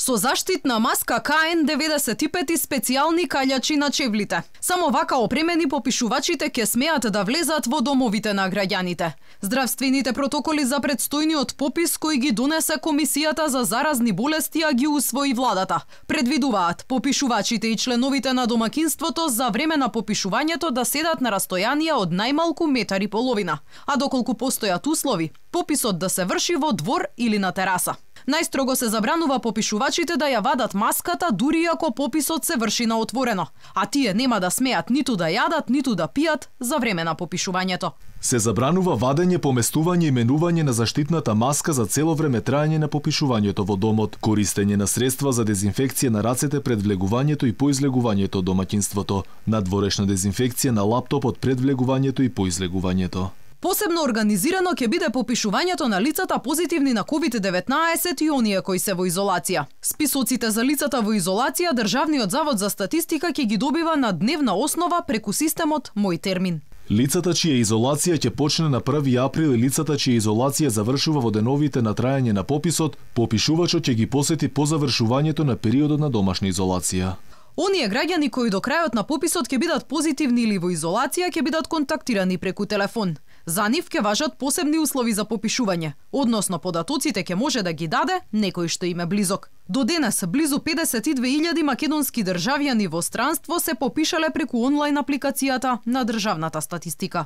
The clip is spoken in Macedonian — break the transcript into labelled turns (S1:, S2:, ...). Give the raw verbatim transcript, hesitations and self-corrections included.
S1: Со заштитна маска К Н деветдесет и пет и специјални каљачи на чевлите. Само вака опремени попишувачите ќе смеат да влезат во домовите на граѓаните. Здравствените протоколи за предстојниот попис кои ги донесе Комисијата за заразни болести, а ги усвои владата, предвидуваат попишувачите и членовите на домакинството за време на попишувањето да седат на растојанија од најмалку метар и половина, а доколку постојат услови, пописот да се врши во двор или на тераса. Најстрого се забранува попишувачите да ја вадат маската дури ако пописот се врши на отворено, а тие нема да смеат ниту да јадат, ниту да пијат за време на попишувањето.
S2: Се забранува вадење, поместување и менување на заштитната маска за цело време траење на попишувањето во домот, користење на средства за дезинфекција на рацете пред влегувањето и по излегувањето од домаќинството, надворешна дезинфекција на лаптопот пред влегувањето и по излегувањето.
S1: Посебно организирано ќе биде попишувањето на лицата позитивни на ковид деветнаесет и оние кои се во изолација. Списоците за лицата во изолација Државниот завод за статистика ќе ги добива на дневна основа преку системот Мој термин.
S2: Лицата чија изолација ќе почне на први април и лицата чија изолација завршува во деновите на траење на пописот, попишувачот ќе ги посети по завршувањето на периодот на домашна изолација.
S1: Оние граѓани кои до крајот на пописот ќе бидат позитивни или во изолација ќе бидат контактирани преку телефон. За нив ќе важат посебни услови за попишување, односно податоците ќе може да ги даде некој што им е близок. До денес близу педесет и две илјади македонски државјани во странство се попишале преку онлайн апликацијата на државната статистика.